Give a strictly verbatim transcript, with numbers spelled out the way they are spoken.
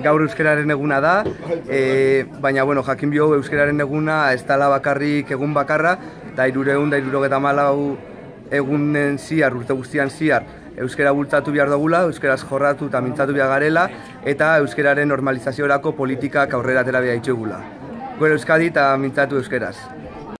gaur euskararen eguna da, e, baina bueno, jakin bio euskararen eguna ez dela bakarrik egun bakarra, eta hirureun da hirurogeita hamalau egunen ziar, urte guztian ziar, euskara bultzatu behar dugula, euskaraz jorratu eta mintzatu behar garela, eta euskararen normalizaziorako politikak aurrera atera behar ditugula. Gure Euskadi eta mintzatu euskaraz.